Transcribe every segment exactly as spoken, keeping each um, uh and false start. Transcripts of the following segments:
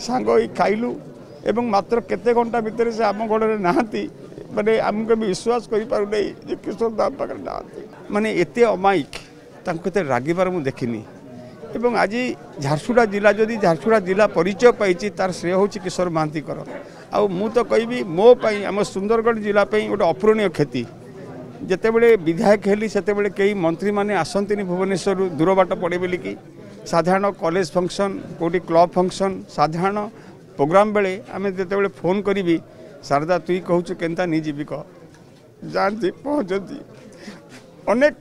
ସାଙ୍ଗ ହେଇ ଖାଇଲୁ ଏବଂ ମାତ୍ର କେତେ ଘଣ୍ଟା ଭିତରେ ସେ ଆମ ଘରରେ ନାହାନ୍ତି। ମାନେ ଆମକୁ ବି ବିଶ୍ୱାସ କରିପାରୁନାହିଁ ଯେ କିଶୋର ଦା ଆମ ପାଖରେ ନାହାନ୍ତି। ମାନେ ଏତେ ଅମାୟିକ, ତାଙ୍କୁ ଏତେ ରାଗିବାର ମୁଁ ଦେଖିନି। ଏବଂ ଆଜି ଝାରସୁଗୁଡ଼ା ଜିଲ୍ଲା ଯଦି ଝାରସୁଗୁଡ଼ା ଜିଲ୍ଲା ପରିଚୟ ପାଇଛି, ତାର ଶ୍ରେୟ ହେଉଛି କିଶୋର ମହାନ୍ତିଙ୍କର। ଆଉ ମୁଁ ତ କହିବି ମୋ ପାଇଁ, ଆମ ସୁନ୍ଦରଗଡ଼ ଜିଲ୍ଲା ପାଇଁ ଗୋଟେ ଅପୂରଣୀୟ କ୍ଷତି। ଯେତେବେଳେ ବିଧାୟକ ହେଲି ସେତେବେଳେ କେହି ମନ୍ତ୍ରୀମାନେ ଆସନ୍ତିନି ଭୁବନେଶ୍ୱରରୁ, ଦୂର ବାଟ ପଡ଼େ ବୋଲିକି। ସାଧାରଣ କଲେଜ ଫଙ୍କସନ୍, କେଉଁଠି କ୍ଲବ୍ ଫଙ୍କସନ୍, ସାଧାରଣ ପ୍ରୋଗ୍ରାମ୍ ବେଳେ ଆମେ ଯେତେବେଳେ ଫୋନ୍ କରିବି, ଶାରଦା ତୁଇ କହୁଛୁ କେନ୍ତା ନି ଯିବି କହ, ଯାଆନ୍ତି ପହଞ୍ଚନ୍ତି। ଅନେକ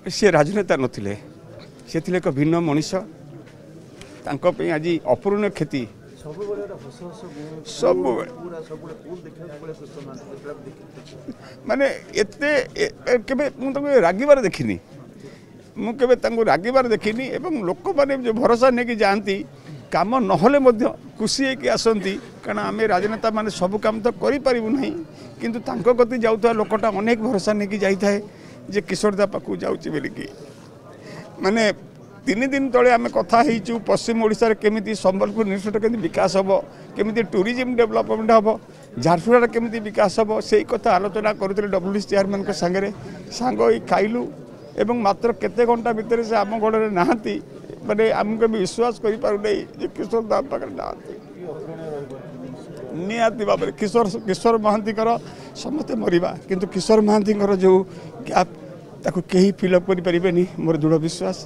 ସିଏ ରାଜନେତା ନଥିଲେ, ସେ ଥିଲେ ଏକ ଭିନ୍ନ ମଣିଷ। ତାଙ୍କ ପାଇଁ ଆଜି ଅପୂରଣୀୟ କ୍ଷତି। ସବୁବେଳେ ମାନେ ଏତେ କେବେ ମୁଁ ତାଙ୍କୁ ରାଗିବାର ଦେଖିନି, ମୁଁ କେବେ ତାଙ୍କୁ ରାଗିବାର ଦେଖିନି। ଏବଂ ଲୋକମାନେ ଯେଉଁ ଭରସା ନେଇକି ଯାଆନ୍ତି, କାମ ନହେଲେ ମଧ୍ୟ ଖୁସି ହେଇକି ଆସନ୍ତି। କାରଣ ଆମେ ରାଜନେତା ମାନେ ସବୁ କାମ ତ କରିପାରିବୁ ନାହିଁ, କିନ୍ତୁ ତାଙ୍କ କତି ଯାଉଥିବା ଲୋକଟା ଅନେକ ଭରସା ନେଇକି ଯାଇଥାଏ ଯେ କିଶୋର ଦା ପାଖକୁ ଯାଉଛି ବୋଲିକି। ମାନେ ତିନି ଦିନ ତଳେ ଆମେ କଥା ହେଇଛୁ ପଶ୍ଚିମ ଓଡ଼ିଶାରେ କେମିତି ସମ୍ବଲପୁର ଇନଷ୍ଟିଚ୍ୟୁଟ୍ କେମିତି ବିକାଶ ହେବ, କେମିତି ଟୁରିଜିମ୍ ଡେଭଲପମେଣ୍ଟ ହେବ, ଝାରସୁଗୁଡ଼ାର କେମିତି ବିକାଶ ହେବ, ସେଇ କଥା ଆଲୋଚନା କରୁଥିଲେ ଡବ୍ଲ୍ୟୁ ଡି ସି ଚେୟାରମ୍ୟାନଙ୍କ ସାଙ୍ଗରେ। ସାଙ୍ଗ ହେଇ ଖାଇଲୁ ଏବଂ ମାତ୍ର କେତେ ଘଣ୍ଟା ଭିତରେ ସେ ଆମ ଘରରେ ନାହାନ୍ତି। ମାନେ ଆମକୁ ବି ବିଶ୍ୱାସ କରିପାରୁନାହିଁ ଯେ କିଶୋର ଦା ଆମ ପାଖରେ ନାହାନ୍ତି। ନିହାତି ଭାବରେ କିଶୋର କିଶୋର ମହାନ୍ତିଙ୍କର ସମସ୍ତେ ମରିବା, କିନ୍ତୁ କିଶୋର ମହାନ୍ତିଙ୍କର ଯେଉଁ ଗ୍ୟାପ୍ ତାକୁ କେହି ଫିଲ୍ଅପ୍ କରିପାରିବେନି, ମୋର ଦୃଢ଼ ବିଶ୍ୱାସ।